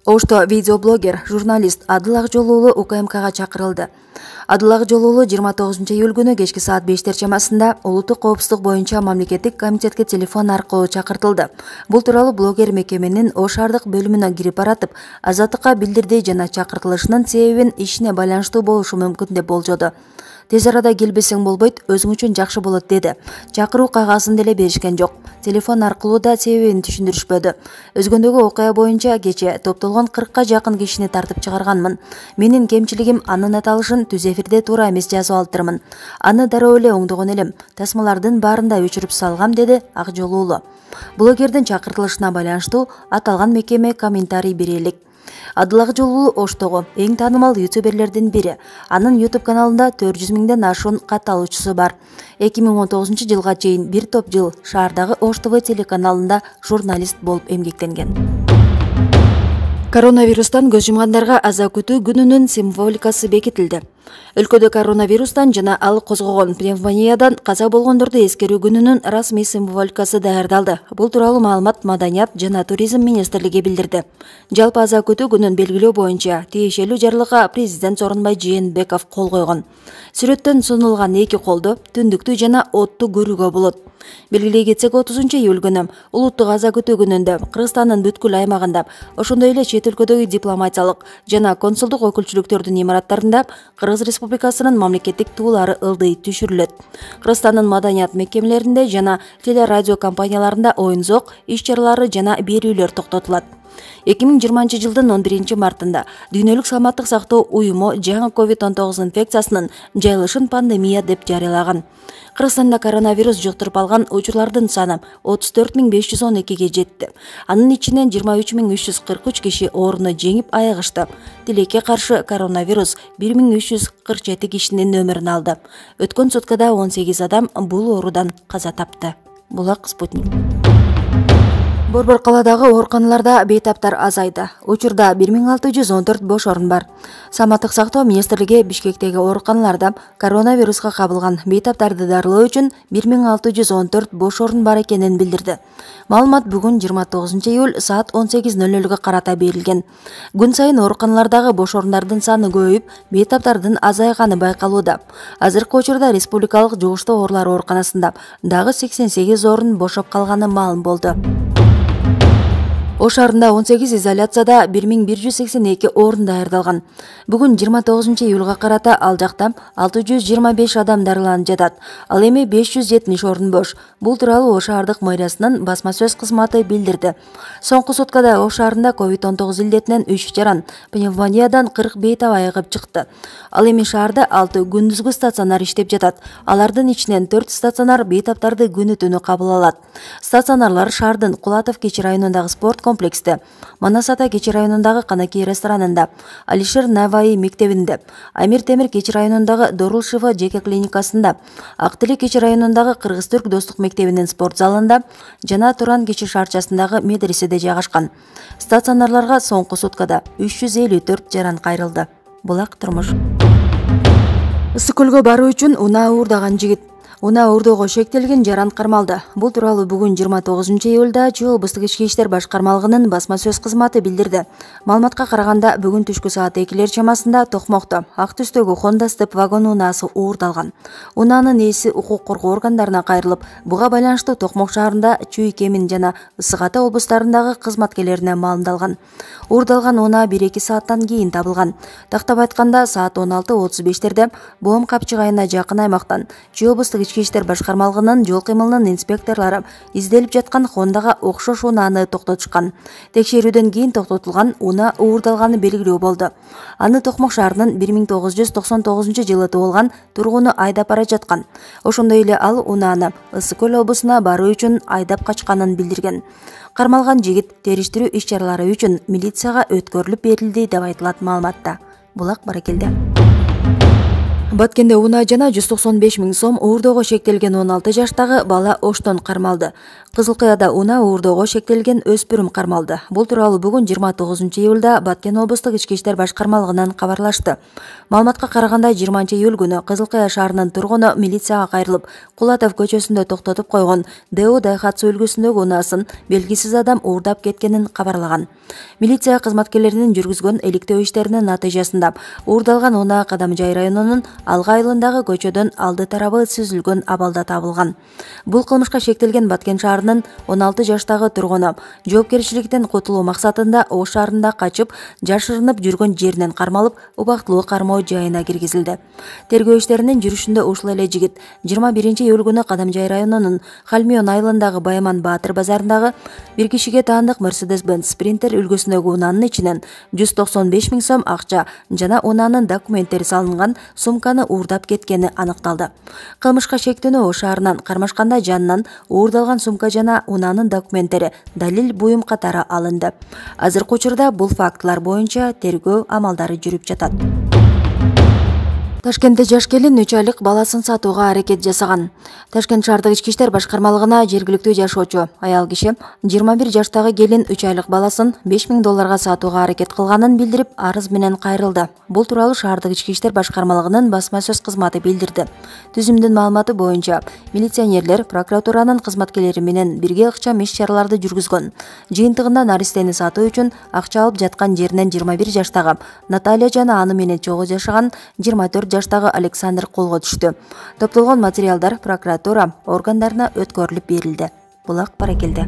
Ошто видеоблогер, журналист Адыл Акжолуулу УКМКга чакырылды. Адыл Акжолуулу 29 июль күнү кечки саат 5 чамасында улуттук коопсуздук боюнча мамлекеттик комитетке телефон аркылуу чакыртылды. Бул тууралуу блогер мекеменин Ош шаардык бөлүмүнө кирип баратып, Азаттыкка билдирди жана чакыртылышынын себебин ишине байланыштуу болушу мүмкүн деп болжоду. Тез арада келбесең болбойт, өзүң үчүн жакшы болот деди. Чакыруу кагазын деле беришкен жок. Телефон аркылуу да себебин түшүндүрүшпөдү. Өзгөндөгү окуя боюнча кече топтолгон 40 жакын кишини тартып чыгарганмын. Менин кемчилигим анын аталышын түз эфирде туура эмес жазып алыптырмын. Аны дароо эле оңдогон элем. Тасмалардын баарын да өчүрүп салгам, деди Акжолуулу. Блогердин чакыртылышына байланыштуу аталган мекеме комментарий бере элек. Адыл Акжолуулу Оштогу эң таанымал ютуберлердин бири. Анын YouTube каналында 400 миңден ашуун катталуучусу бар. 2019 жылга чейин бир топ жыл шаардагы Ош ТВ телеканалында журналист болуп эмгектенген. Коронавирустан көз жумгандарга аза күтүү күнүнүн символикасы бекитилди. Өлкөдө коронавирустан жана ал козгогон пневмониядан каза болгондорду эскерүү күнүнүн расмий символикасы даярдалды. Бул тууралуу маалымат Маданият жана туризм министрлиги билдирди. Жалпы аза күтүү күнүн белгилөө боюнча тиешелүү жарлыкка президент Сооронбай Жээнбеков кол койгон. Сүрөттөн сунулган эки колду түндүктүү жана отту көрүүгө болот. Белгилей кетсек, 30 июль күнү улуттук аза күтүү күнүндө Кыргызстандын бүткүл аймагында, ошондой эле чет өлкөдөгү дипломатиялык жана консулдук өкүлчүлүктөрдүн имараттарында Кыргыз Республикасынын мамлекеттик туулары ылдый түшүрүлөт. Кыргызстандын маданият мекемелеринде жана телерадио компанияларында оюн-зок, иш-чаралары жана берүүлөр токтотулат. 2020 жылдын 11 мартында Дүйнөлүк саламаттык сактоо уюму жаңы COVID-19 инфекциясынын жайылышын пандемия деп жарыялаган. Кыргызстанда коронавирус жуктуруп алган учурлардын саны 34.512-ге жетти. Анын ичинен 23.343 киши ооруну жеңип айыгышты. Тилекке каршы коронавирус 1347 кишинин өмүрүн алды. Өткөн суткада 18 адам бул оорудан каза тапты. Булак Спутник. Борбор калаадагы ооруканаларда бейтаптар азайды. Учурда 1614 бош орун бар. Саламаттык сактоо министрлиги Бишкектеги ооруканаларда коронавируска кабылган бейтаптарды дарылоо үчүн 1614 бош орун бар экенин билдирди. Маалымат бүгүн 29 июль саат 18:00-га карата берилген. Күн сайын ооруканалардагы бош орундардын саны көбөйүп, бейтаптардын азайганы байкалууда. Азыркы учурда республикалык жугуштуу оорулар ооруканасында дагы 88 орун бошоп калганы маалым болду. Ош шаарында 18 изоляцияда 1182 орун даярдалган. Бүгүн 29 июлга карата ал жакта 625 адам дарыланып жатат. Ал эми 570 орун бош. Бул тууралуу Ош шаардык мэриясынын басма сөз кызматы билдирди. Соңку суткада Ош шаарында COVID-19 илдетинен 3 жаран, пневмониядан 40 бейтап айыгып чыкты. Ал эми шаарда 6 күндүзгү стационар иштеп жатат. Алардын ичинен 4 стационар бейтаптарды күнү-түнү кабыл алат. Стационарлар шаардын Кулатов кечи районундагы спорт комплексте, Манас ата кечи районундагы Канакей ресторанында, Алишер Наваи мектебинде, Амир Темир кечи районундагы Дорул Шифа жеке клиникасында, Актилек кечи районундагы Кыргыз-Түрк достук мектебинин спорт залында жана Туран кечи шаарчасындагы медреседе жайгашкан. Стационарларга соңку суткада 354 жаран кайрылды. Булак турмуш. Ысык көлгө баруу үчүн унаа уурдаган жигит. Унаа уурдоого шектелген жаран кармалды. Бул тууралуу бүгүн 29 июлда Чүй облустук ички иштер башкармалыгынын басма сөз кызматы билдирди. Маалыматка караганда, бүгүн түшкү саат 2 чамасында Токмокто ак түстөгү Honda Step вагон унаасы уурдалган. Унаанын ээси укук коргоо органдарына кайрылып, буга байланыштуу Токмок шаарында, Чүй, Кемин жана Ысык Ата облустарындагы кызматкерлерине маалымдалган. Уурдалган унаа 1-2 сааттан кийин табылган. Тактап айтканда, саат 16:35 Боом капчыгайына жакын аймактан Чүй облустук ички иштер башкармалыгынын жол кыймылынын инспекторлору изделип жаткан Хондага окшош унааны токтотушкан. Текшерүүдөн кийин токтотулган унаа уурдалганы белгилүү болду. Аны Токмок шаарынын 1999 жылы туулган тургуну айдап бара жаткан. Ошондой эле ал унааны Ысык көл облусуна баруу үчүн айдап качканын билдирген. Кармалган жигит териштирүү иш-чаралары үчүн милицияга өткөрүлүп берилди деп айтылат маалыматта. Булак Баракелде. Баткенде унаа жана 195 000 сом уурдоого шектелген 16 жаштагы бала оштон кармалды. Кызылкыяда унаа уурдоого шектелген өспүрүм кармалды. Бул тууралуу бүгүн 29 июлда Баткен облустук ички иштер башкармалыгынан кабарлашты. Маалыматка караганда 20 июль күнү Кызылкыя шаарынын тургуну милицияга кайрылып, Кулатов көчөсүндө токтотуп койгон ДО Дайхатсу үлгүсүндөгү унаасын белгисиз адам уурдап кеткенин кабарлаган. Милиция кызматкерлеринин жүргүзгөн иликтөө иштеринин натыйжасында уурдалган унаа Кадамжай районунун Алга айылындагы көчөдөн алды тарабы сүзүлгөн абалда табылган. Бул кылмышка шектелген Баткен шаарынын 16 жаштагы тургуну жоопкерчиликтен кутулуу максатында Ош шаарында качып, жашырынып жүргөн жеринен кармалып, убактылуу кармоо жайына киргизилди. Тергөө иштеринин жүрүшүндө ушул эле жигит 21 июль күнү Кадамжай районунун Халмион айылындагы Байман Баатыр базарындагы бир кишиге таандык Mercedes-Benz Sprinter үлгүсүндөгү унаанын ичинен 195 000 сом акча жана унаанын документтери салынган сумканы уурдап кеткени аныкталды. Кылмышка шектүүнү Ош шаарынан кармашканда жанынан уурдалган сумка жана унаанын документтери далил буюм катары алынды. Азыркы учурда бул фактылар боюнча тергөө амалдары жүрүп жатат. Ташкентте жаш келин 3 айлык баласын сатууга аракет жасаган. Ташкент шаардык ички иштер башкармалыгына жергиликтүү жашоочу аял киши 21 жаштагы келин 3 айлык баласын $5000 сатууга аракет кылганын билдирип, арыз менен кайрылды. Бул тууралуу шаардык ички иштер башкармалыгынын басма сөз кызматы билдирди. Түзүмдүн маалыматы боюнча, милиционерлер прокуратуранын кызматкерлери менен бирге ыкчам иш-чараларды жүргүзгөн. Жыйынтыгында наристени сатуу үчүн акча алып жаткан жеринен 21 жаштагы Наталья жана аны менен чогуу жашаган 24 жаштагы Александр колго түштү. Топтолгон материалдар прокуратура органдарына өткөрүлүп берилди. Булак баракелде.